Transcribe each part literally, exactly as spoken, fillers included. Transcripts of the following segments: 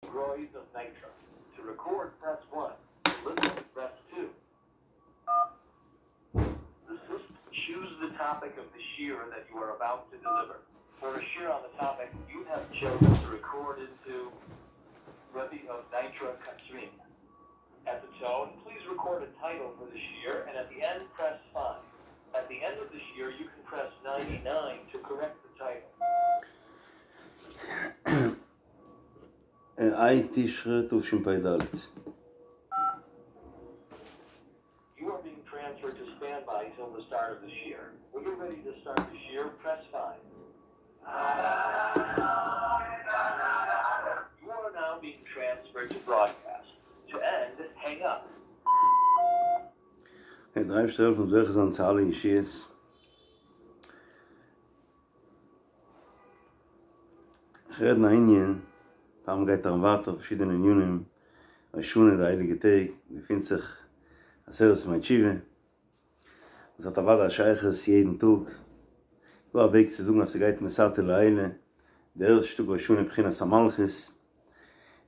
Roy's of Nitra. To record, press one. To listen, press two. The system choose the topic of the shiur that you are about to deliver. For a shiur on the topic you have chosen to record into Rebbe of Nitra Katrin. At the tone, please record a title for the shiur, and at the end, press five. At the end of the shiur, you can press ninety-nine to correct the title. ה' תשרי תשפ"ד. You are being transferred to standby till the start of the shiur. When you're ready to start the shiur, press five. You are now being transferred to broadcast. To end, hang up. דער אייבערשטער זאל העלפן זוכה זיין צו אלע ישועות. איך רעד אין א ענין, פאר מ'גייט אריין ווייטער פארשידענע ענינים, ראש השנה די הייליגע טעג, געפינט זיך עשרת ימי תשובה, דאס האט אוודאי א שייכות יעדן טאג, דא א וועג צו זאגן אז ס'גייט מתתא לעילא, די ערשטע טאג ראש השנה בחינת המלכות,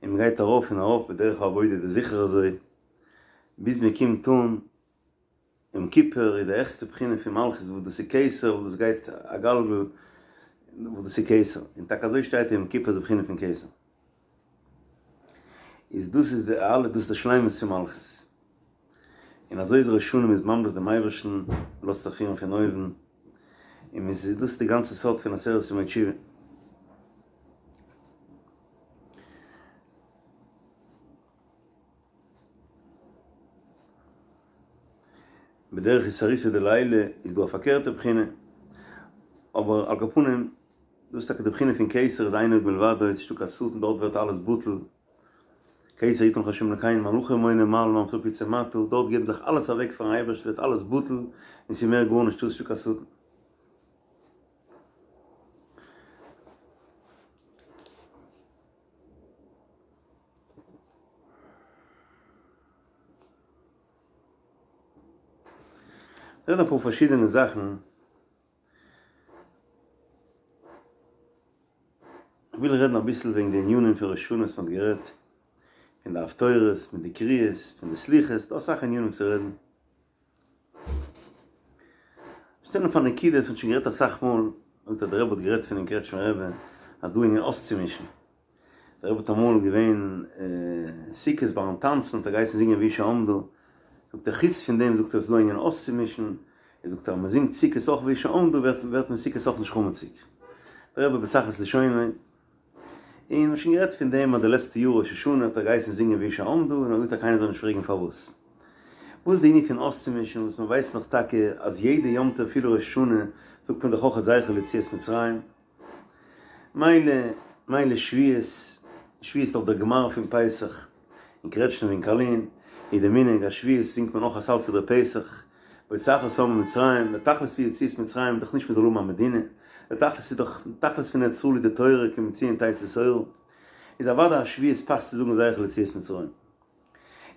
און מ'גייט ארויף און ארויף בדרך העבודה איז דאס זיכער אזוי, ביז מ'קומט אן יום כיפור איז די העכסטע בחינה פון מלכות וואס דאס איז כתר וואס דאס גייט א גלגל וואס דאס איז כתר, און טאקע אזוי שטייט יום כיפור איז די בחינה פון כתר, איז דאס איז די אלע דאס איז די שלימות פון מלכות, און אזוי איז ראש השנה מ'איז ממליך דעם אייבערשטן, מ'לאזט זיך פירן פון אויבן, און מ'איז דאס איז די גאנצע סוד פון עשרת ימי תשובה. בדרך אתערותא דלעילא איז דא א פארקערטע בחינה, אבער על כל פנים דאס איז טאקע די בחינה פון כתר איז אין עוד מלבדו, ס'איז נישטא קיין שטן דארט ווערט אלעס בטל, כתר יתן לך השם אלקינו מלאכים מונה מעלה ממתקים יצא מטה, דארט געבן זיך אלעס אוועק פארן אייבערשטן ווערט אלעס בטל און ס'איז מער גארנישט דא, ס'איז נישטא קיין שטן. רעדן אפאר פארשידענע זאכן, כ'וויל רעדן אביסל וועגן די ענינים פון ראש השנה וואס מ'האט גערעדט, פון די הפטורות, פון די קריאות, פון די סליחות, ס'דא אסאך ענינים צו רעדן. שטעלן אפ א נקודה וואס מ'האט שוין גערעדט אסאך מאל, זאגט אז דער רבי האט גערעדט פונעם קרעטשמער רבי אז דא ענין אויסצומישן, דער רבי האט אמאל געווען סוכות ביים טאנצן האט ער געהייסן זינגען והיא שעמדה, זאגט ער חוץ פון דעם זאגט ער ס'איז דא ענין אויסצומישן, ער זאגט אז מ'זינגט סוכות אויך והיא שעמדה ווערט מען סוכות אויך נישט חמציג, דער רבי בצחות לשונו. און מ'האט שוין גערעדט פון דעם אז די לעצטע יאר ראש השנה האט ער געהייסן זינגען והיא שעמדה און ער האט געזאגט אז קיינער זאל נישט פרעגן פארוואס. וואס איז די ענין פון אויסצומישן וואס מ'ווייסט נאך טאקע אז יעדע יום טוב אפילו ראש השנה זאגט מען דאך אויך זכר ליציאת מצרים. מילא מילא שבועות, שבועות איז דאך דער גמר פון פסח, אין קרעטשניף אין קארלין איז די מנהג אז שבועות זינגט מען אויך א סל סדרי פסח, בהוציאך את העם ממצרים, די תכלית פון יציאת מצרים איז דאך נישט מען זאל האבן א מדינה, די תכלית איז דאך, די תכלית פון ארץ ישראל איז די תורה כי מציון תצא תורה, איז אוודאי אז שבועות פאסט צו זאגן זכר ליציאת מצרים.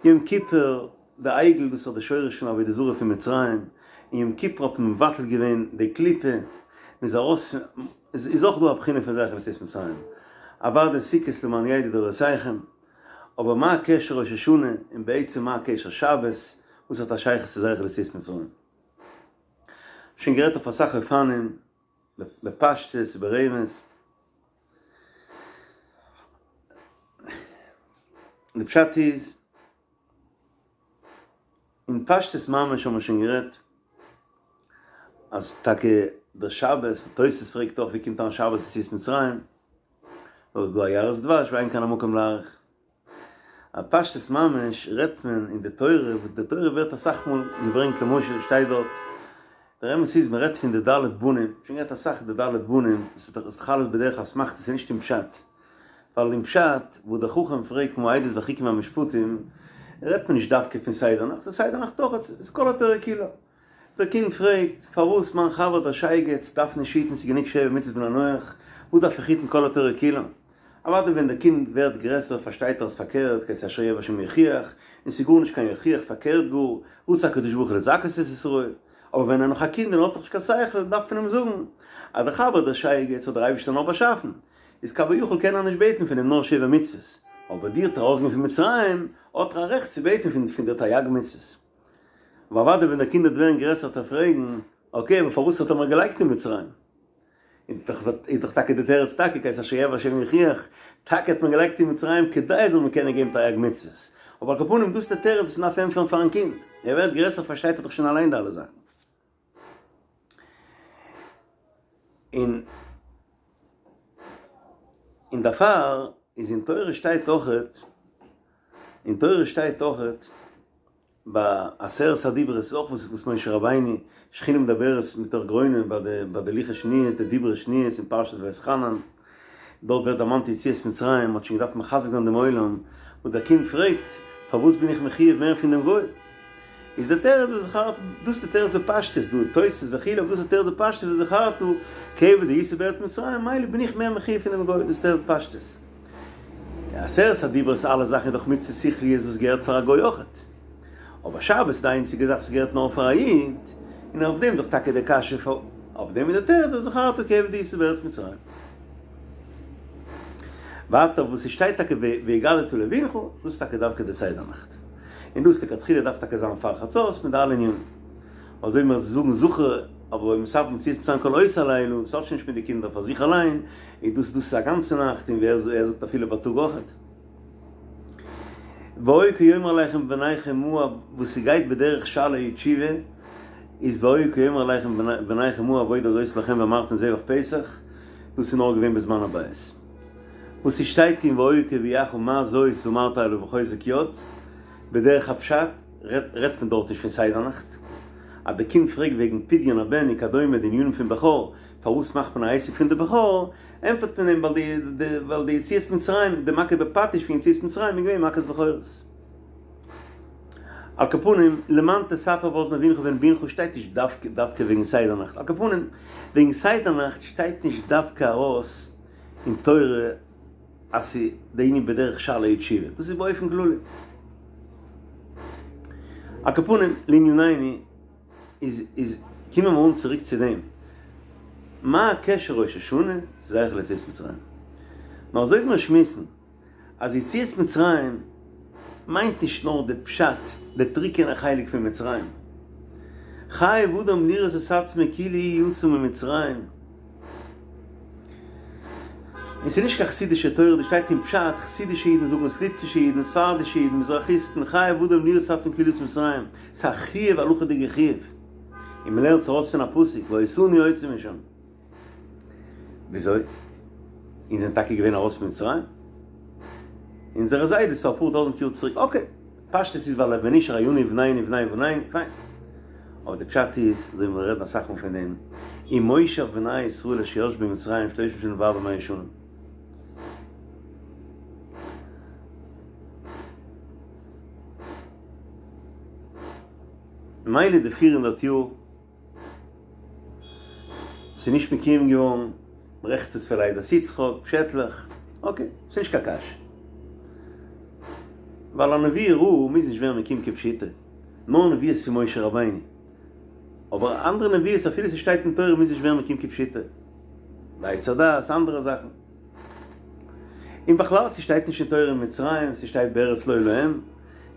יום כיפור, די עגל דאס איז דאך די שורש פון עבודה זרה פון מצרים, און יום כיפור האט מען מבטל געווען די קליפה, מען איז ארויס פון, איז אויך דא א בחינה פון זכר ליציאת מצרים, אוודאי סוכות למען ידעו דורותיכם. אבער מה הקשר ראש השנה און בעצם מה הקשר שבת, וואס האט א שייכות צו זכר ליציאת מצרים? שוין גערעדט אויף אסאך אופנים, בפשטות וברמז. די פשט איז, אין פשטות ממש האבן מיר שוין גערעדט, אז טאקע דער שבת, תוס' פרעגט אויך ווי קומט אריין שבת יציאת מצרים, נאר איז דא א יערות דבש ואין כאן המקום להאריך. א פשטות ממש רעדט מען אין די תורה, וואס די תורה ווערט אסאך מאל געברענגט למשל שטייט דארט, דער אמת איז מען רעדט פון די ד' בנים, שוין גערעדט אסאך די ד' בנים, עס איז דאך אלעס בדרך אסמכתא עס איז נישט אין פשט, ווייל אין פשט וואס דער חכם פרעגט מה העדות והחוקים והמשפטים רעדט מען נישט דווקא פון סדר נאכט, ס'איז סדר נאכט אויך, ס'איז כל התורה כולה. דער קינד פרעגט, פארוואס מיין חבר דער שייגעץ דארף נישט היטן ס'איז גענוג שבע מצוות בני נח, וואס דארף איך היטן כל התורה כולה? אוודאי ווען דער קינד ווערט גרעסער פארשטייט ער אז פארקערט, כי את אשר יאהב השם יוכיח, און ס'איז גארנישט קיין יוכיח פארקערט גאר, רצה הקדוש ברוך הוא לזכות את ישראל. אבער ווען ער נאך א קינד און האט נאך נישט קיין שכל דארף מען אים זאגן אז דער חבר דער שייגעץ האט דער אייבערשטער נאר באשאפן, איז כביכול קען ער נישט בעטן פון אים נאר שבע מצוות, אבער דיר האט ער ארויסגענומען פון מצרים, האט ער א רעכט צו בעטן פון פון דיר תרי"ג מצוות. אבער אוודאי ווען דער קינד וועט ווערן גרעסער וועט ער פרעגן, אקעי אבער פארוואס האט ער מיר געלייגט אין מצרים? איז דאך טאקע די תירוץ טאקע כי את אשר יאהב השם יוכיח, טאקע האט מען געלייגט אין מצרים כדי זאל מען קענען געבן תרי"ג מצוות, אבער על כל פנים דאס איז די תירוץ וואס מען דארף ענטפערן פארן קינד, ער ווערט גרעסער פארשטייט ער דאך שוין אליין די אלע זאכן. און און דערפאר איז אין תורה שטייט אויכעט, אין תורה שטייט אויכעט ביי עשרת הדיברות איז אויך וואס וואס משה רבינו שכינה מדברת מתוך גרונו ביי די ביי די לוחות שניות די דיברות שניות אין פרשת ואתחנן דארט ווערט דערמאנט יציאת מצרים מ'האט שוין געדארפט מחזק זיין דעם עולם וואס דער קינד פרעגט פארוואס בין איך מחויב מער פון דעם גוי איז דער תירוץ וזכרת דאס איז די תירוץ בפשטות דא תוספות וכו' אבער דאס איז די תירוץ בפשטות וזכרת כי עבד היית בארץ מצרים מילא בין איך מער מחויב פון דעם גוי דאס איז תירוץ פשטות. די עשרת הדיברות אלע זאכן איז דאך מצוות שכליות וואס געהערט פאר א גוי אויכעט. אבער שבת איז די איינציגע זאך וואס געהערט נאר פאר א איד, און אויף דעם איז דאך טאקע די קשיא פאר אויף דעם איז די תירוץ וזכרת כי עבד היית בארץ מצרים. ווייטער וואס ס'שטייט טאקע והגדת לבנך, דאס איז טאקע דווקא די סדר נאכט. און דאס לכתחילה דארף טאקע זיין פאר חצות מיט די אלע ענינים. אזוי ווי מיר זאגן זכור אבער אויב מספרים יציאת מצרים כל אותו הלילה, דאס האט שוין נישט מיט די קינדער פאר זיך אליין, איז דאס דאס איז א גאנצע נאכט און ווי ער זאגט אפילו בייטאג אויכעט. והיה כי יאמר אליכם בניכם מה וואס ס'גייט בדרך שאלה ותשובה איז והיה כי יאמר אליכם בניכם מה העבודה הזאת לכם ואמרתם זבח פסח, דאס איז נאר געווען בזמן הבית. וואס ס'שטייט אין והיה כי יביאך מה זאת ואמרת אליו בחוזק יד, בדרך הפשט רעדט מען דארט נישט פון סדר נאכט. אז די קינד פרעגט וועגן פדיון הבן וכדומה די ענינים פון בכור, פארוואס מאכט מען א עסק פון די בכור, ענטפערט מען אים ווייל די יציאת מצרים, די מכה בפטיש פון יציאת מצרים איז געווען מכת בכורות. על כל פנים, למען תספר באזני בנך ובן בנך שטייט נישט דווקא דווקא וועגן סדר נאכט, על כל פנים, וועגן סדר נאכט שטייט נישט דווקא ארויס אין תורה אז ס'איז די ענין בדרך שאלה ותשובה, דאס איז באופן כללי. על כל פנים, לענינינו, איז איז קומען מיר אן צוריק צו דעם, מה הקשר ראש השנה צו זכר ליציאת מצרים? נאר אזוי ווי מיר שמועסן אז יציאת מצרים מיינט נישט נאר די פשט, די טרוקענע חלק פון מצרים, חייב אדם לראות את עצמו כאילו יצא ממצרים, און ס'איז נישט קיין חסידישע תורה, דאס שטייט אין פשט, חסידישע אידן זאגן עס, ליטווישע אידן, ספרדישע אידן, מזרחיסטן, חייב אדם לראות את עצמו כאילו יצא ממצרים, ס'איז א חיוב, הלכה'דיגע חיוב, און מ'לערנט עס ארויס פון א פסוק, ואותנו הוציא משם. וויאזוי? אונז זענען טאקע געווען ארויס פון מצרים? אונזערע זיידעס פאר אפאר טויזנט יאר צוריק, אקעי, פשטות איז ווייל ונשאר היינו ובנינו ובני בנינו, פיין. אבער די פשט איז, אזוי ווי מיר רעדן אסאך מאל פון דעם, ומושב בני ישראל אשר ישבו במצרים שלושים שנה וארבע מאות שנה. מילא די פיר הונדערט יאר ס'איז נישט מקוים געווארן, מ'רעכנט עס פון לידת יצחק, פשעטלעך, אקעי, ס'איז נישט קיין קשיא. ווייל א נבואה רעה מוז נישט ווערן מקוים כפשוטו, נאר נבואות פון משה רבינו. אבער אנדערע נבואות אפילו ס'שטייט אין תורה מוז נישט ווערן מקוים כפשוטו. עץ הדעת, אנדערע זאכן. און בכלל ס'שטייט נישט אין תורה אין מצרים, ס'שטייט בארץ לא להם.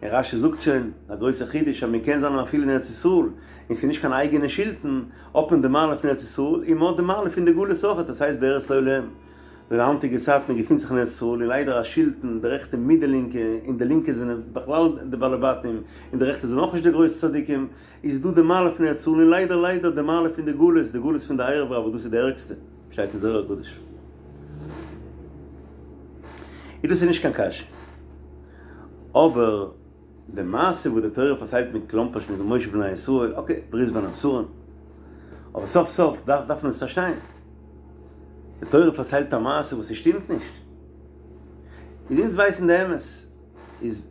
און רש"י זאגט שוין, א גרויסע חידוש אז מ'קען זיין אפילו אין ארץ ישראל, און ס'איז נישט קיין אייגענע שלטון, האט מען די מעלה פון ארץ ישראל, און מ'האט די מעלה פון די גלות אויכעט, עס הייסט בארץ לא להם. די היינטיגע צייט מען געפינט זיך אין ארץ ישראל און ליידער א שלטון, די רעכטע מיט די לינקע, און די לינקע זענען בכלל די בעלי בתים, און די רעכטע זענען אויך נישט די גרויסע צדיקים, איז דא די מעלה פון ארץ ישראל און ליידער ליידער די מעלה פון די גלות, די גלות פון די ערב רב וואס דאס איז די ערגסטע, שטייט אין זוהר הקדוש. איז דאס איז נישט קיין קשיא. אבער די מעשה וואס די תורה פארציילט מיט קלאמפערשט מיט מושב בני ישראל, אקעי, ברית בין הבתרים, אבער סוף סוף דארף דארף מען עס פארשטיין. די תורה פארציילט א מעשה וואס ס'שטימט נישט. איז אונז ווייסן די אמת. איז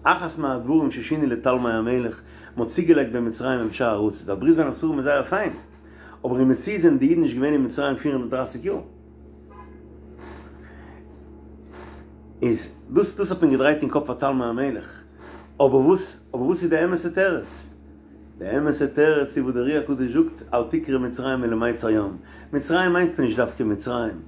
אחת מהדברים ששינו לתלמי המלך, מ'האט צוגעלייגט בין מצרים ובין שאר ארצות, ווייל ברית בין הבתרים איז זייער פיין, אבער אין מציאות זענען די אידן נישט געווען אין מצרים פֿיר הונדערט דרײַסיק יאר. איז דאס דאס האט מען געדרייט אין קאפ פאר תלמי המלך, אבער וואס אבער וואס איז די אמת'ע תירוץ? די אמת'ע תירוץ איז וואס דער אר"י הקדוש זאגט אל תקרי מצרים אלא מיצר ים, מצרים מיינט מען נישט דווקא מצרים,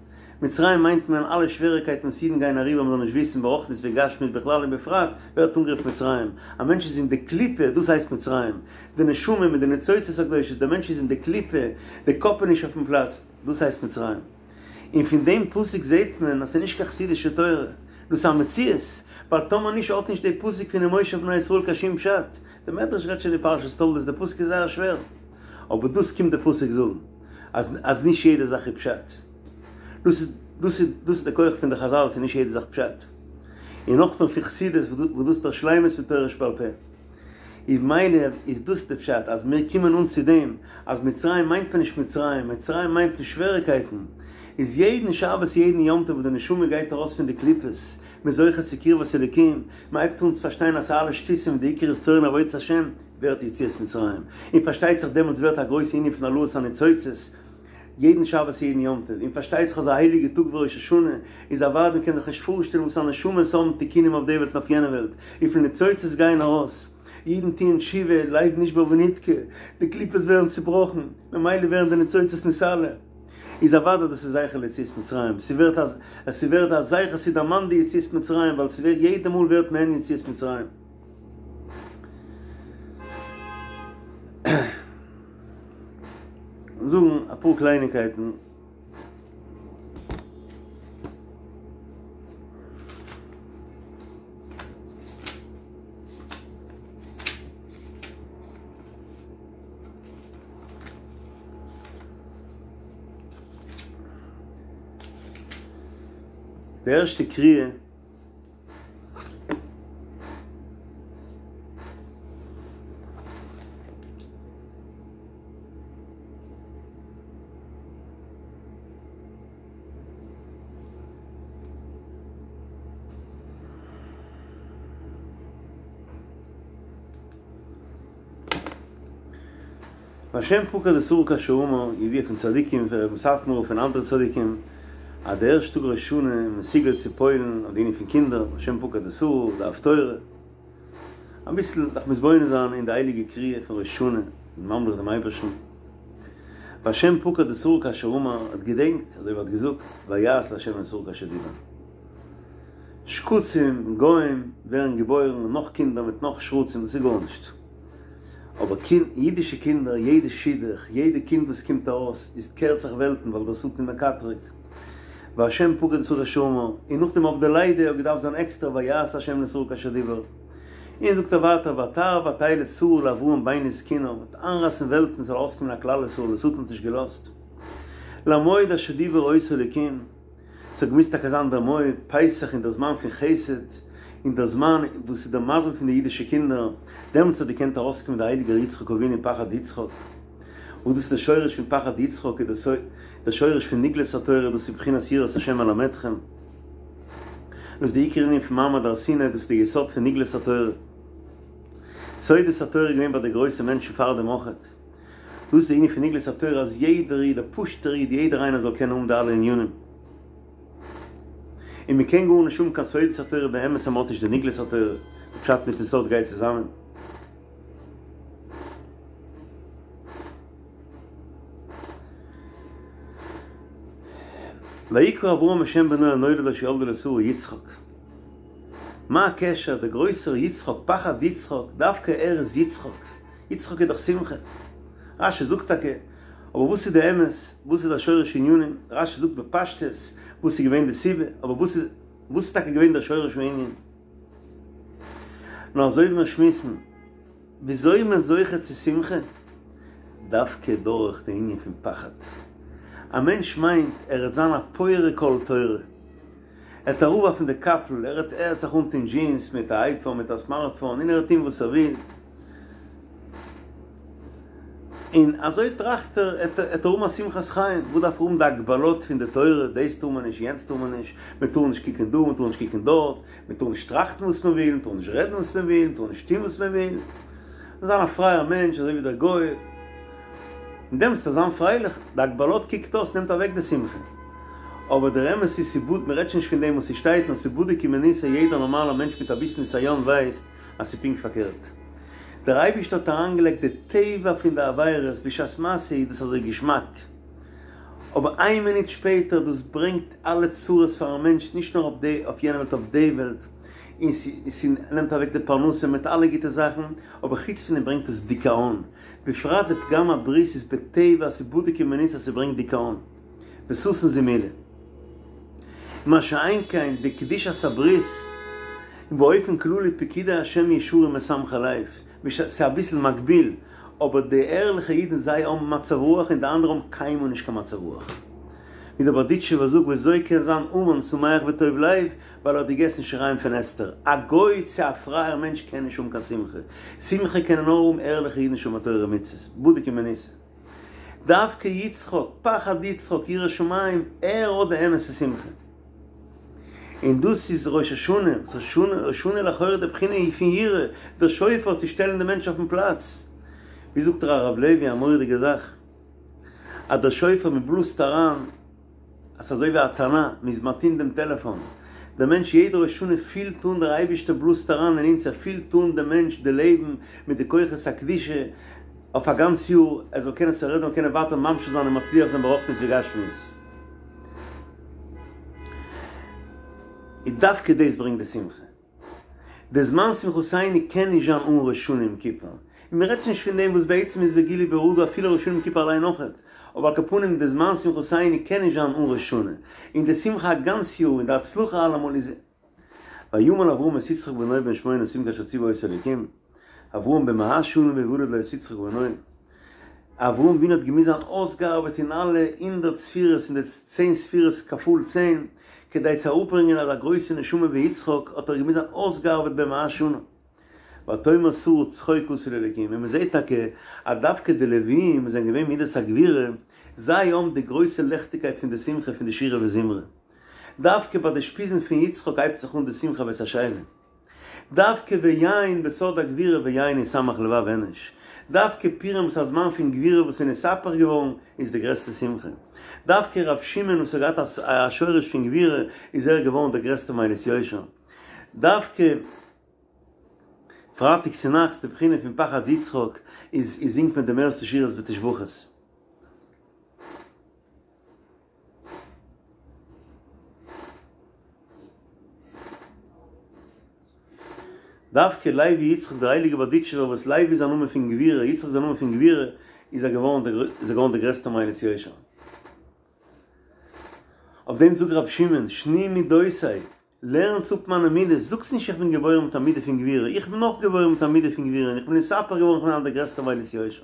מצרים מיינט מען אלע שוועריקייטן וואס אידן גייען אריבער מ'זאל נישט וויסן ברוחניות וגשמיות בכלל און בפרט, ווערט אנגערופן מצרים. א מענטש איז אין די קליפה, דאס הייסט מצרים. די נשמה מיט די ניצוצות הקדושות, דער מענטש איז אין די קליפה, די קאפ איז נישט אויפן פלאץ, דאס הייסט מצרים. און פון דעם פסוק זעט מען אז ס'איז נישט קיין חסידישע תורה, דאס איז א מציאות, ווייל טאמער נישט האט נישט די פסוק פון ומושב בני ישראל קיין שום פשט. די מדרש רעדט שוין אין פרשת תולדות, די פסוק איז זייער שווער, אבער דאס קומט די פסוק זאגן, אז אז נישט יעדע זאך איז פשט. דאס איז דאס איז דאס איז די כח פון די חזל, ס'איז נישט יעדע זאך פשט. און נאכמער פון חסידות וואס דאס איז דער שלימות פון תורה שבעל פה. איז ממילא איז דאס די פשט אז מיר קומען אן צו דעם אז מצרים מיינט מען נישט מצרים, מצרים מיינט מען שוועריקייטן, איז יעדן שבת יעדן יום טוב וואס די נשמה גייט ארויס פון די קליפות, מ'איז זוכה צו קרבת אלוקים, מ'הייבט אן צו פארשטיין אז ס'אלעס שטותים און די עיקר איז תורה און עבודת השם, ווערט יציאת מצרים, און פארשטייט זיך דעמאלטס ווערט א גרויסע ענין פון העלאת הניצוצות, יעדן שבת יעדן יום טוב, און פארשטייט זיך אזא הייליגע טאג ווי ראש השנה, איז אוודאי מ'קען זיך נישט פארשטעלן וואס א נשמות האבן תיקונים אויף די וועלט און אויף יענע וועלט, וויפיל ניצוצות גייען ארויס, אידן טוען תשובה, לב נשבר ונדכה, די קליפות ווערן צובראכן, ממילא ווערן די ניצוצות נתעלה, איז אוודאי דאס איז זכר ליציאת מצרים, ס'ווערט א ס'ווערט א זכר ס'דערמאנט די יציאת מצרים, ווייל ס'ווערט יעדע מאל ווערט מעין יציאת מצרים. זאגן אפאר קלייניקייטן. די ערשטע קריאה. והשם פקד את שרה כאשר אמר, ידוע פון צדיקים, פון רבי מסאטמאר און פון אנדערע צדיקים, אז די ערשטע טאג ראש השנה איז מסוגל צו פועל'ן אויף די ענין פון קינדער, והשם פקד את שרה, די הפטורה. אביסל זיך מתבונן זיין אין די הייליגע קריאה פון ראש השנה, און ממליך דעם אייבערשטן. והשם פקד את שרה כאשר אמר, האט געדענקט, אזוי ווי ער האט געזאגט, ויעש להשם לשרה כאשר דיבר. שקצים, גוים, ווערן געבוירן, נאך קינדער מיט נאך שרצים, דאס איז גארנישט. אבער קינד, אידישע קינדער, יעדע שידוך, יעדע קינד וואס קומט ארויס, איז קערט זיך וועלטן, ווייל דער שטן מקטרג. והשם פקד את שרה כאשר אמר, און נאכדעם אויף די לידה האט געדארפט זיין עקסטער ויעש השם לשרה כאשר דיבר. און זאגט ער ווייטער ותהר ותלד שרה לאברהם בן וזקנה, מ'וועט איינרייסן וועלטן ס'זאל ארויסקומען א כלל ישראל, דער שטן האט נישט געלאזט. למועד אשר דיבר אותו אלוקים. ס'האט געמוזט טאקע זיין דער מועד פסח אין דער זמן פון חסד, אין דער זמן וואס איז דער מזל פון די אידישע קינדער, דעמאלטס האט געקענט ארויסקומען דער הייליגער יצחק אבינו פחד יצחק, וואס דאס איז דער שורש פון פחד יצחק, איז דער שורש פון נגלות התורה, דאס איז בחינת יראת השם אלמדכם, דאס איז די עיקר ענין פון מעמד הר סיני, דאס איז די יסוד פון נגלות התורה. סודות התורה איז געווען ביי די גרויסע מענטשן פאר דעם אויכעט. דאס איז די ענין פון נגלות התורה אז יעדער איד, א פשוט'ער איד, יעדער איינער זאל קענען האבן די אלע ענינים. און מען קען גארנישט האבן קיין סודות התורה באמת אז מען האט נישט די נגלות התורה, די פשט מיטן סוד גייט צוזאמען. ויקרא אברהם את שם בנו הנולד לו אשר ילדה לו שרה יצחק. מה הקשר דער גרויסער יצחק, פחד יצחק, דווקא ער איז יצחק? יצחק איז דאך שמחה. רש"י זאגט טאקע, אבער וואס איז די אמת? וואס איז דער שורש הענינים? רש"י זאגט בפשטות וואס איז געווען די סיבה, אבער וואס איז וואס איז טאקע געווען דער שורש הענין? נאר אזוי ווי מיר שמועסן, וויאזוי איז מען זוכה צו שמחה? דווקא דורך די ענין פון פחד. א מענטש מיינט ער וועט זיין א פורק עול תורה, ער וועט אראפווארפן די קאפל, ער וועט ער וועט זיך אנטון דזשינס מיט א אייפאון מיט א סמארטפאון און ער וועט טון וואס ער וויל, און אזוי טראכט ער, ער וועט האבן א שמחת חיים, וואס דארף ער האבן די הגבלות פון די תורה, דאס טאר מען נישט, יענץ טאר מען נישט, מען טאר נישט קוקן דא, מען טאר נישט קוקן דארט, מען טאר נישט טראכטן וואס מען וויל, מען טאר נישט רעדן וואס מען וויל, מען טאר נישט טון וואס מען וויל, זיין א פרייער מענטש אזוי ווי דער גוי, און דעמאלטס וועט ער זיין פרייליך, די הגבלות קוקט אויס נעמט אוועק די שמחה, אבער דער אמת איז ס'בוד, מען רעדט שוין נישט פון דעם וואס ס'שטייט, נאר ס'בדוק ומנוסה, יעדער נארמאלער מענטש מיט אביסל ניסיון ווייסט אז ס'איז פונקט פארקערט. דער אייבערשטער האט אריינגעלייגט די טבע פון די עבירות, בשעת מעשה איז דאס אזוי געשמאק, אבער איין מינוט שפעטער דאס ברענגט אלע צרות פארן מענטש נישט נאר אויף די אויף יענע וועלט אויף די וועלט, און ס'נעמט אוועק די פרנסה מיט אלע גוטע זאכן, אבער חוץ פון דעם ברענגט עס דיכאון, בפרט די פגם הברית איז בטבע אז ס'בדוק ומנוסה אז ס'ברענגט דיכאון, וששון זימלה. מה שאין כן די קדושת הברית, און באופן כללי פקודי השם ישרים משמחי לב, ס'איז אביסל מגביל, אבער די ערליכע אידן זיי האבן מצב רוח און די אנדערע האבן קיינמאל נישט קיין מצב רוח. ווי דער בארדיטשובער זאגט וויאזוי קען זיין המן שמח וטוב לב ווייל ער האט געגעסן שיריים פון אסתר. א גוי צו א פרייער מענטש קען נישט האבן קיין שמחה. שמחה קענען נאר האבן ערליכע אידן שומר תורה ומצוות. בדוק ומנוסה. דווקא יצחק, פחד יצחק, ירא שמים, ער האט די אמת'ע שמחה. און דאס איז ראש השנה, וואס ראש השנה, ראש השנה לכאורה די בחינה פון יראה, דער שופר צו שטעלן די מענטש אויפן פלאץ. ווי זאגט הרב לוי א מורא'דיגע זאך, אז דער שופר מען בלאזט אריין, אז ס'איז אזוי ווי א הטענה, מען איז מטעין דעם טעלעפאן, דער מענטש יעדע ראש השנה פילט אן דער אייבערשטער בלאזט אריין אין אונז, ער פילט אן דעם מענטש די לעבן מיט די כוחות הקדושה אויף א גאנץ יאר, ער זאל קענען ער זאל קענען ווייטער ממשיך זיין און מצליח זיין ברוחניות וגשמיות. און דווקא דאס ברענגט די שמחה. די זמן שמחתינו קען נישט זיין אן ראש השנה יום כיפור. און מען רעדט נישט פון דעם וואס בעצם איז וגילו ברעדה אפילו ראש השנה יום כיפור אליין אויכעט. אבער על כל פנים די זמן שמחתינו קען נישט זיין אן ראש השנה. און די שמחה א גאנץ יאר און די הצלחה אלעמאל איז. וימל אברהם את יצחק בנו בן שמונה שנים כאשר ציווה אותו אלוקים, אברהם בן מאה שנה בהולד לו את יצחק בנו. אברהם אבינו האט געמוזט זיין אויסגעארבעט אין אלע הונדערט ספירות אין די צען ספירות כפול צען, כדי צו אראפברענגען אזא גרויסע נשמה ווי יצחק האט ער געמוזט זיין אויסגעארבעט בן מאה שנה. ותאמר שרה צחוק עשה לי אלוקים, און מען זעט טאקע אז דווקא די לוויים וואס זענען געווען מידת הגבורה, זיי האבן די גרויסע לעכטיגקייט פון די שמחה פון די שירה וזמרה. דווקא ביי די אושפיזין פון יצחק הייבט זיך אן די שמחה ואת השיבה. דווקא ויין בסוד הגבורה ויין ישמח לבב אנוש. דווקא פורים וואס איז א זמן פון גבורה וואס איז נתהפך געווארן איז די גרעסטע שמחה. דווקא ר' שמעון וואס האט געהאט א שורש פון גבורה איז ער געווארן דער גרעסטער מליץ יושר. דווקא פרייטאג צונאכטס די בחינה פון פחד יצחק איז זינגט מען די מערסטע שירות ותשבחות. דווקא לוי יצחק דער הייליגער בארדיטשובער וואס לוי איז א נאמען פון גבורה יצחק איז א נאמען פון גבורה איז ער געווארן דער איז ער געווארן דער גרעסטער מליץ יושר. אויף דעם זאגט רבי שמעון שנו מדותי לערנטס אפ מיינע מידות, זאגטס נישט איך בין געבוירן מיט א מידה פון גבורה, איך בין אויך געבוירן מיט א מידה פון גבורה און איך בין נתהפך געווארן איך בין היינט דער גרעסטער מליץ יושר.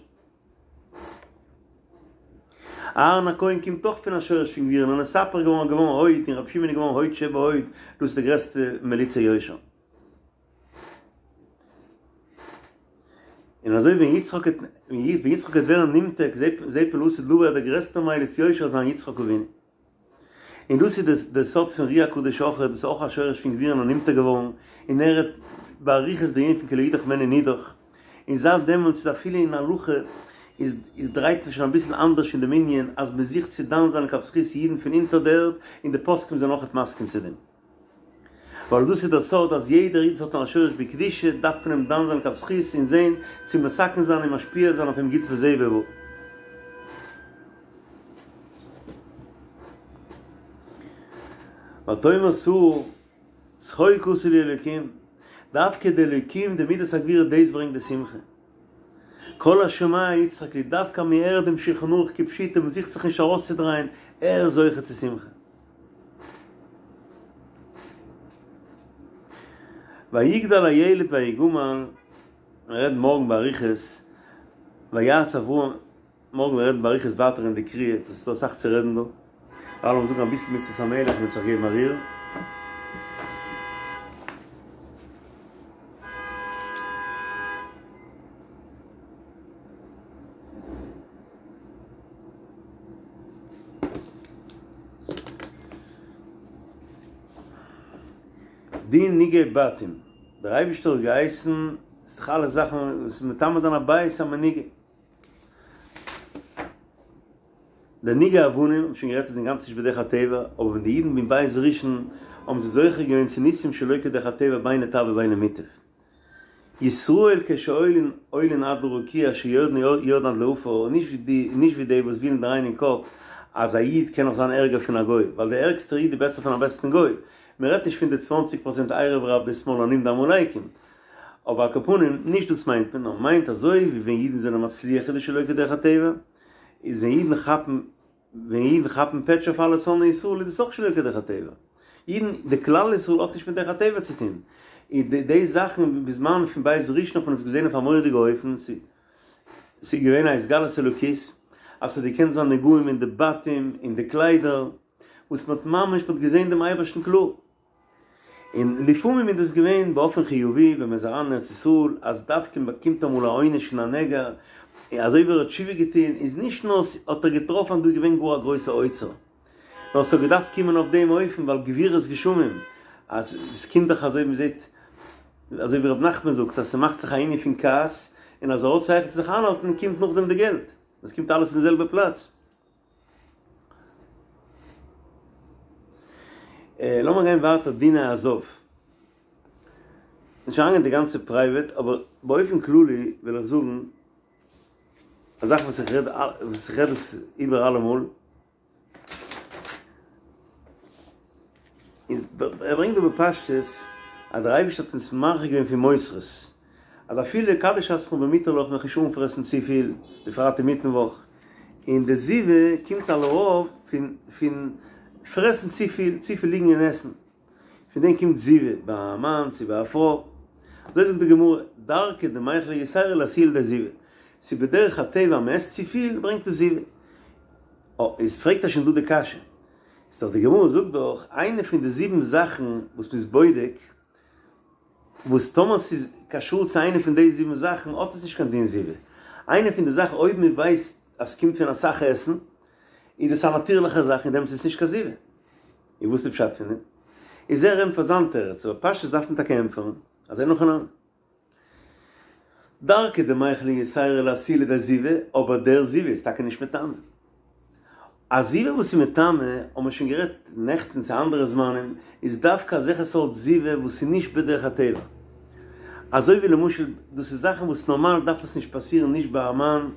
אהרן הכהן קומט אויך פון א שורש פון גבורה נאר נתהפך געווארן געווארן הוד און רבי שמעון איז געווארן הוד שבהוד דאס איז די גרעסטע מליצי יושר. און אזוי ווען יצחק וועט ווען יצחק וועט ווערן נמתק זה פה לעתיד לבוא דער גרעסטער מליץ יושר וועט זיין יצחק אבינו. און דאס איז די סוד פון אר"י הקדוש אויך, דאס איז אויך א שורש פון גבורה נאר נמתק געווארן, און ער רעדט באריכות די ענין פון כי לא ידח ממנו נידח, און זייט דעמאלטס איז אפילו אין הלכה איז איז דרייט מען שוין אביסל אנדערש אין דעם ענין אז מען זוכט צו דן זיין לכף זכות אידן פון אונטער די ערד, און די פוסקים זענען אויכעט מסכים צו דעם. ווייל דאס איז דער סוד אז יעדער איד וואס האט א שורש בקדושה דארף מען אים דן זיין לכף זכות און זען צו מתקן זיין און משפיע זיין אויף אים גוטס בזה ובבא. ותאמר שרה, צחוק עשה לי אלוקים, דווקא די אלוקים, די מידת הגבורה דאס ברענגט די שמחה. כל השומע יצחק לי, דווקא מען הערט דעם שולחן ערוך כפשוטו, מען זוכט זיך נישט ארויסצודרייען, ער איז זוכה צו שמחה. ויגדל הילד ויגמל, מען רעדט מארגן באריכות, ויעש אברהם, מארגן וועלן רעדן באריכות ווייטער אין די קריאה, עס איז דא אסאך צו רעדן דא. דערווייל לאמיר זאגן אביסל מצוות המלך און זיך געבן א ריר. דין נגעי בתים, דער אייבערשטער האט געהייסן, ס'איז דאך אלע זאכן וואס מטמא זיין א בית איז א מנוגע. די נגעי אבנים, האבן שוין גערעדט איז אינגאנצן נישט בדרך הטבע, אבער ווען די אידן ביים בית ראשון האבן זיי זוכה געווען צו ניסים שלא כדרך הטבע בין לטב ובין למוטב. ישראל כשעולין עולין עד לרקיע שיורדין יורדין עד לעפר, נישט ווי די נישט ווי די וואס ווילן דרייען אין קאפ אז א איד קען נאך זיין ערגער פון א גוי, ווייל דער ערגסטער איד איז בעסער פון א בעסטן גוי, מען רעדט נישט פון די צוואנציג פראצענט ערב רב די שמאלנים די עמלקים, אבער על כל פנים נישט דאס מיינט מען, נאר מיינט אזוי ווי ווען אידן זענען מצליח איז דאס שלא כדרך הטבע, איז ווען אידן כאפן ווען אידן כאפן פעטש אויף אלע שונאי ישראל איז דאס אויך שלא כדרך הטבע. אידן, די כלל ישראל האט נישט מיט דרך הטבע צו טון. איז די די זאכן בזמן פון בית ראשון האט מען עס געזען אויף א מורא'דיגע אופן, ס'איז געווען א התגלות אלוקית, אז ס'האט געקענט זיין נגעים אין די בתים, אין די קליידער, וואס מ'האט ממש מ'האט געזען דעם אייבערשטן קלאר. און לפעמים איז דאס געווען באופן חיובי ווען מ'איז אריין אין ארץ ישראל, אז דווקא מ'באקומט אמאל א עונש פון א נגע, און אזוי ווי ער האט תשובה געטון, איז נישט נאר האט ער געטראפן אז דא איז געווען גאר א גרויסע אוצר, נאר ס'האט געדארפט קומען אויף דעם אופן ווייל גבורות גשמים, אז עס קומט דאך אזוי ווי מ'זעט, אזוי ווי ר' נחמן זאגט אז ס'מאכט זיך א ענין פון כעס, און אז ער האט שכל צו זיך איינהאלטן קומט נאכדעם די געלט, עס קומט אלעס פון די זעלבע פלאץ. לאמיר גיין ווייטער דיני הזב. נישט אריינגיין די גאנצע פרייוועט, אבער באופן כללי וויל איך זאגן א זאך וואס איך רעד וואס איך רעד עס איבער אלעמאל, איז ער ברענגט דא בפשטות אז דער אייבערשטער האט אונז מרחיק געווען פון מותרות, אז אפילו קדש עצמך במותר לך זיך נישט אנפרעסן צופיל, בפרט אינמיטן וואך, און די זיבה קומט על הרוב פון פון פרעסן צופיל, צופיל ליגן און עסן, פון דעם קומט זיבה ביי א מאן צו ביי א פרוי, אזוי זאגט די גמרא, דרכא דמיכלא יתירא לאתויי לידי זיבה, ס'איז בדרך הטבע אז מ'עסט צופיל ברענגט עס זיבה. אה, איז פרעגט ער שוין דא די קשיא, איז דאך די גמרא זאגט דאך איינע פון די זיבן זאכן וואס מ'איז בודק, וואס טאמער ס'איז קשור צו איינע פון די זיבן זאכן האט עס נישט קיין דין זיבה, איינע פון די זאכן אויב מ'ווייסט אז ס'קומט פון אסאך עסן, איז דאס א נאטירליכע זאך און דעמאלטס איז עס נישט קיין זיבה. און וואס איז פשט פון דעם? איז ער ענטפערט זיין תירוץ, אבער פשטות דארף מען טאקע ענטפערן אז אין הכי נמי. דרכא דמיכלא יתירא לאתויי לידי זיבה, אבער דער זיבה איז טאקע נישט מטמא. א זיבה וואס איז מטמא, האבן מיר שוין גערעדט נעכטן צו אנדערע זמנים, איז דווקא אזעלכע סארט זיבה וואס איז נישט בדרך הטבע. אזוי ווי למשל, דאס איז זאכן וואס נארמאל דארף עס נישט פאסירן נישט ביי א מאן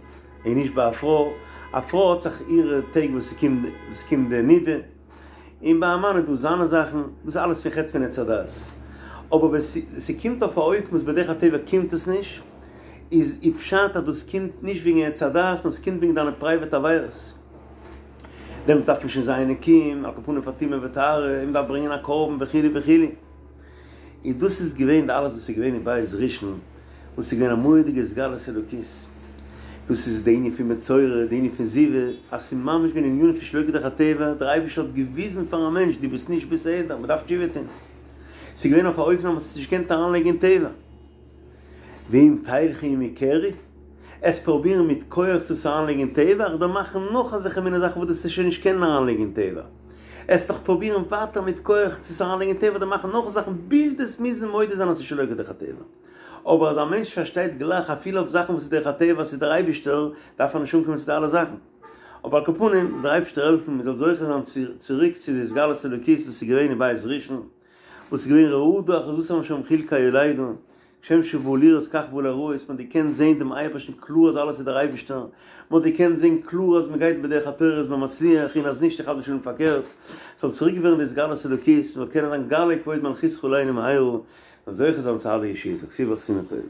און נישט ביי א פרוי, א פרוי האט זיך אירע טעג וואס ס'קומט די נידה, און ביי א מאן איז דא זיינע זאכן, דאס איז אלעס פון חטא פון עץ הדעת. אבער ווען ס'קומט אויף א אופן וואס בדרך הטבע קומט עס נישט, איז אי פשט אז דאס קומט נישט וועגן עץ הדעת, נאר ס'קומט וועגן דיינע פרייוועט עבירות. דעמאלט דארף מען שוין זיין נקיים, על כל פנים פאר טומאה וטהרה, און מ'דארף ברענגען א קרבן וכו' וכו'. און דאס איז געווען די אלעס וואס איז געווען אין בית ראשון, וואס איז געווען א מורא'דיגע התגלות אלוקית, דאס איז די ענין פון מצורע, די ענין פון זיבה, אז ס'איז ממש געווען ענינים פון שלא כדרך הטבע, דער אייבערשטער האט געוויזן פארן מענטש דו ביסט נישט בסדר, מען דארף תשובה טון, ס'איז געווען אויף א אופן אז מען האט עס נישט געקענט אריינלייגן אין טבע. ואם תלכו עמי קרי, עס פרובירן מיט כח צו עס אריינלייגן אין טבע, אדער מאכן נאך אזעלכע מיני זאכן וואס דו וועסט שוין נישט קענען אריינלייגן אין טבע. עס נאך פרובירן ווייטער מיט כח צו עס אריינלייגן אין טבע אדער מאכן נאך זאכן ביז דו וועסט מוזן מודה זיין אז ס'איז שלא כדרך הטבע. אבער אז א מענטש פארשטייט גלייך אפילו אויף זאכן וואס איז דרך הטבע אז ס'איז דער אייבישטער, דארף ער נישט אנקומען צו די אלע זאכן. אבער על כל פנים, דער אייבישטער העלפן מ'זאל זוכה זיין צוריק צו די התגלות אלוקית וואס איז געווען אין בית ראשון, וואס איז געווען רעדה אחוזתם שם חיל כיולדה, כשם שבאו לראות כך באו ליראות, מען האט געקענט זען דעם אייבערשטן קלאר אז אלעס איז דער אייבערשטער, מען האט געקענט זען קלאר אז מען גייט בדרך התורה איז מען מצליח און אז נישט איז חס ושלום פארקערט, ס'זאל צוריק ווערן די התגלות אלוקית, מען זאל קענען זיין גלה כבוד מלכותך עלינו מהרה, און זוכה זיין צו אלע ישועות, א כתיבה וחתימה טובה.